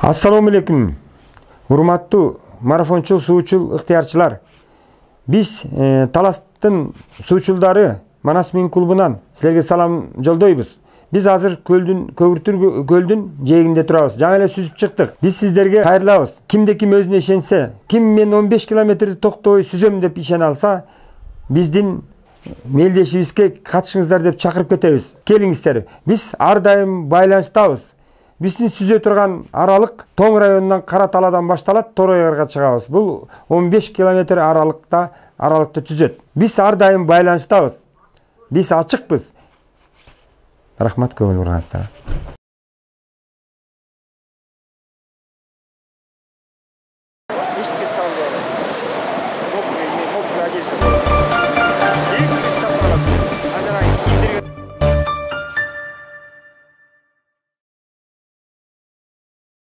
Ассаламу алейкум. Урматтуу марафончу суучул ыктыярчылар. Биз Таластын суучулдары Манас Мин клубунан силерге салам жолдойбуз. Биз азыр Көгүртүр көлдүн жээгинде турабыз. Жаңы эле сүзүп чыктык. Биз сиздерге кайрылабыз. Кимде ким өзүнө ишенсе, ким мен 15 километрди токтобой сүзөм деп ишене алса, биздин мелдешибизге катышыңыздар деп чакырып кетебиз. Келиңиздер. Биз ар дайым байланыштабыз. Биздин сүзө турган аралык Тоң районунан Кара Таладан башталат, Торойгарга чыгабыз. Бул 15 километр аралыкты түзөт. Биз ар дайым байланыштабыз. Биз ачыкпыз. Рахмат, көңүл бурганыңыздарга.